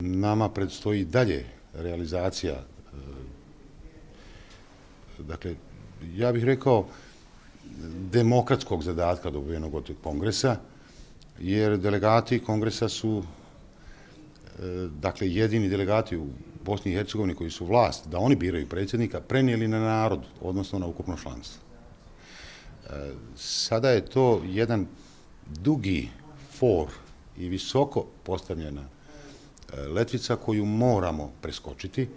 Nama predstoji dalje realizacija, dakle, ja bih rekao, demokratskog zadatka dobivenog od kongresa, jer delegati kongresa su, dakle, jedini delegati u Bosni i Hercegovini koji su vlast, da oni biraju predsjednika, prenijeli na narod, odnosno na ukupno članstvo. Sada je to jedan dugi for i visoko postavljena letvica koju moramo preskočiti,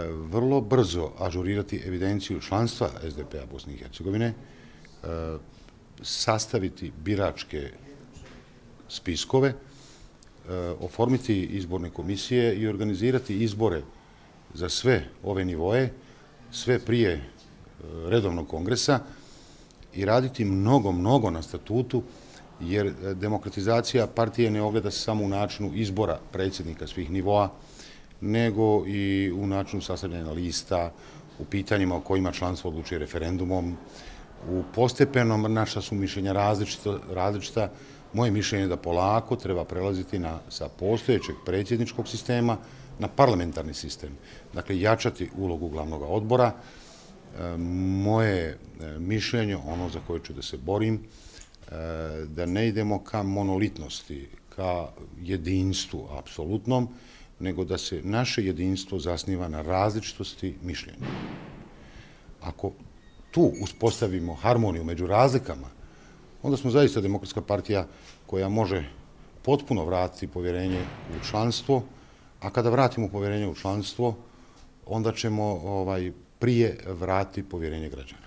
vrlo brzo ažurirati evidenciju članstva SDP-a Bosne i Hercegovine, sastaviti biračke spiskove, oformiti izborne komisije i organizirati izbore za sve ove nivoe, sve prije redovnog kongresa i raditi mnogo na statutu, jer demokratizacija partije ne ogleda se samo u načinu izbora predsjednika svih nivoa, nego i u načinu sastavljanja lista, u pitanjima o kojima članstvo odlučuje referendumom. U postepenom naša su mišljenja različita. Moje mišljenje je da polako treba prelaziti sa postojećeg predsjedničkog sistema na parlamentarni sistem. Dakle, jačati ulogu glavnog odbora. Moje mišljenje, ono za koje ću da se borim, da ne idemo ka monolitnosti, ka jedinstvu apsolutnom, nego da se naše jedinstvo zasniva na različitosti mišljenja. Ako tu uspostavimo harmoniju među razlikama, onda smo zaista demokratska partija koja može potpuno vratiti povjerenje u članstvo, a kada vratimo povjerenje u članstvo, onda ćemo prije vratiti povjerenje građana.